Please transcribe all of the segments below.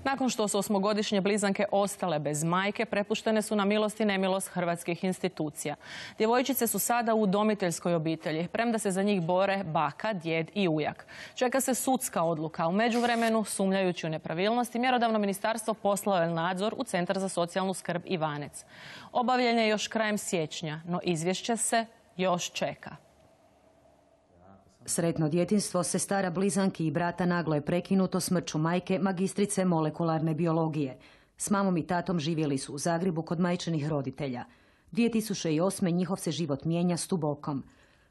Nakon što su osmogodišnje blizanke ostale bez majke, prepuštene su na milost i nemilost hrvatskih institucija. Djevojčice su sada u udomiteljskoj obitelji, premda se za njih bore baka, djed i ujak. Čeka se sudska odluka. U međuvremenu, sumnjajući u nepravilnosti, mjerodavno ministarstvo poslalo je nadzor u Centar za socijalnu skrb Ivanec. Obavljen je još krajem siječnja, no izvješće se još čeka. Sretno djetinjstvo sestara blizanki i brata naglo je prekinuto smrću majke, magistrice molekularne biologije. S mamom i tatom živjeli su u Zagrebu kod majčinih roditelja. 2008. njihov se život mijenja s tubokom.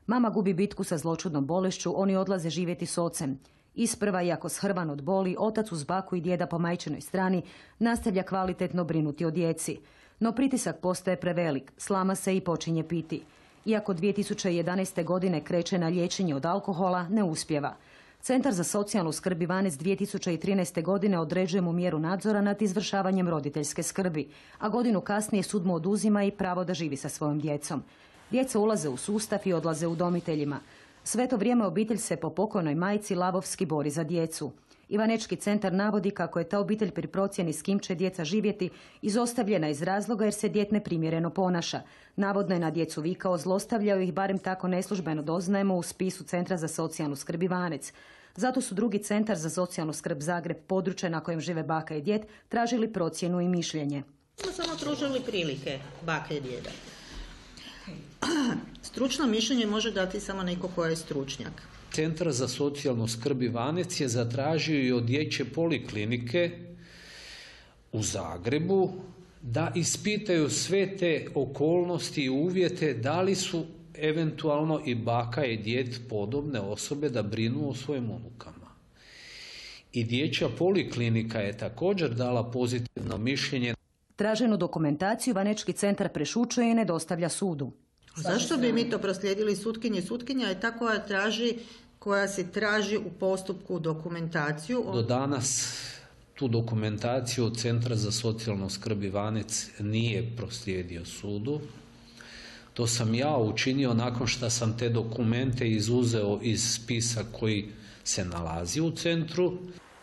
Mama gubi bitku sa zloćudnom bolešću, oni odlaze živjeti s ocem. Isprva, iako shrvan od boli, otac uz baku i djeda po majčinoj strani nastavlja kvalitetno brinuti o djeci. No pritisak postaje prevelik, slama se i počinje piti. Iako 2011. godine kreće na liječenje od alkohola, ne uspijeva. Centar za socijalnu skrb Ivanec 2013. godine određuje mu mjeru nadzora nad izvršavanjem roditeljske skrbi, a godinu kasnije sud mu oduzima i pravo da živi sa svojom djecom. Djeca ulaze u sustav i odlaze udomiteljima. Sve to vrijeme obitelj se po pokojnoj majci lavovski bori za djecu. Ivanečki centar navodi kako je ta obitelj pri procjeni s kim će djeca živjeti izostavljena iz razloga jer se dijete neprimjereno ponaša. Navodno je na djecu vikao, zlostavljao ih, barem tako neslužbeno doznajemo u spisu Centra za socijalnu skrb Ivanec. Zato su drugi Centar za socijalnu skrb Zagreb, područje na kojem žive baka i djed, tražili procjenu i mišljenje. Smo samo pružili prilike baka i djeda. Stručno mišljenje može dati samo neko ko je stručnjak. Centar za socijalnu skrb Ivanec je zatražio i od dječje poliklinike u Zagrebu da ispitaju sve te okolnosti i uvjete da li su eventualno i baka i djed podobne osobe da brinu o svojim unukama. I dječja poliklinika je također dala pozitivno mišljenje. Traženu dokumentaciju Ivanečki centar prešućuje i ne dostavlja sudu. Zašto bi mi to proslijedili sutkinji? Sutkinja je ta koja se traži u postupku dokumentaciju. Do danas tu dokumentaciju od Centra za socijalnu skrb Ivanec nije proslijedio sudu. To sam ja učinio nakon što sam te dokumente izuzeo iz spisa koji se nalazi u centru.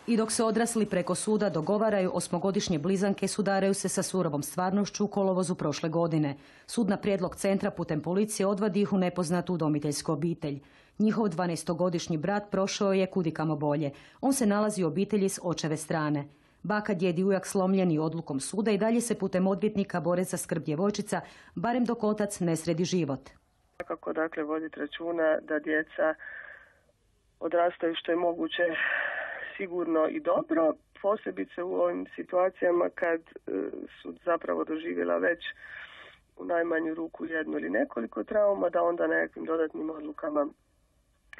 I dok se odrasli preko suda dogovaraju, osmogodišnje blizanke sudaraju se sa surovom stvarnošću u kolovozu prošle godine. Sud na prijedlog centra putem policije odvodi ih u nepoznatu udomiteljsku obitelj. Njihov 12-godišnji brat prošao je kudikamo bolje. On se nalazi u obitelji s očeve strane. Baka, djed i ujak slomljeni odlukom suda i dalje se putem odvjetnika bore za skrb djevojčica, barem dok otac ne sredi život. Kako dakle voditi računa da djeca odrastaju što je moguće sigurno i dobro, posebice u ovim situacijama kad su zapravo doživjela već u najmanju ruku jednu ili nekoliko trauma, da onda nekakvim dodatnim odlukama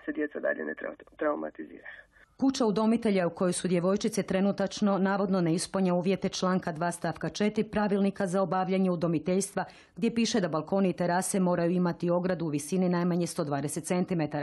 se djeca dalje ne traumatiziraju. Kuća udomitelja u kojoj su djevojčice trenutačno navodno ne ispunja uvjete članka 2 stavka 4 pravilnika za obavljanje udomiteljstva, gdje piše da balkoni i terase moraju imati ogradu u visini najmanje 120 cm.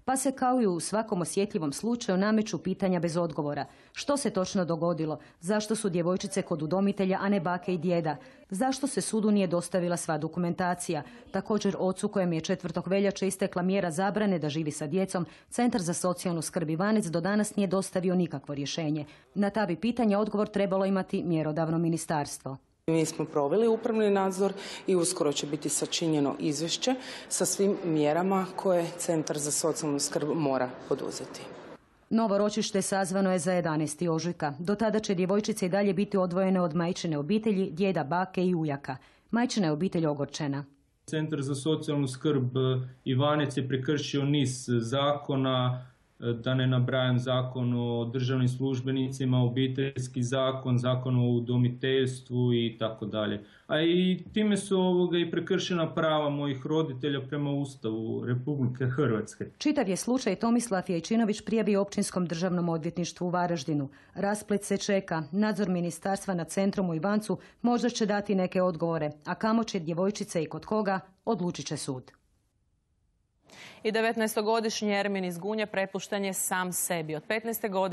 Pa se kao i u svakom osjetljivom slučaju nameću pitanja bez odgovora. Što se točno dogodilo? Zašto su djevojčice kod udomitelja, a ne bake i djeda? Zašto se sudu nije dostavila sva dokumentacija? Također ocu kojem je 4. veljače istekla mjera zabrane da živi sa djecom, Centar za socijalnu skrb Ivanec do danas nije dostavio nikakvo rješenje. Na ta bi pitanja odgovor trebalo imati mjerodavno ministarstvo. Mi smo proveli upravni nadzor i uskoro će biti sačinjeno izvješće sa svim mjerama koje Centar za socijalnu skrb mora poduzeti. Novo ročište sazvano je za 11. ožujka. Do tada će djevojčice i dalje biti odvojene od majčine obitelji, djeda, bake i ujaka. Majčina je obitelj ogorčena. Centar za socijalnu skrb Ivanec je prekršio niz zakona, da ne nabrajam zakon o državnim službenicima, obiteljski zakon, zakon o udomiteljstvu i tako dalje. A i time su i prekršena prava mojih roditelja prema Ustavu Republike Hrvatske. Čitav je slučaj Tomislav Jajčinović prijavio Općinskom državnom odvjetništvu u Varaždinu. Rasplet se čeka. Nadzor ministarstva nad centrom u Ivancu možda će dati neke odgovore, a kamo će djevojčice i kod koga, odlučit će sud. I 19-godišnji Ermin iz Gunje prepušten je sam sebi. Od 15. godine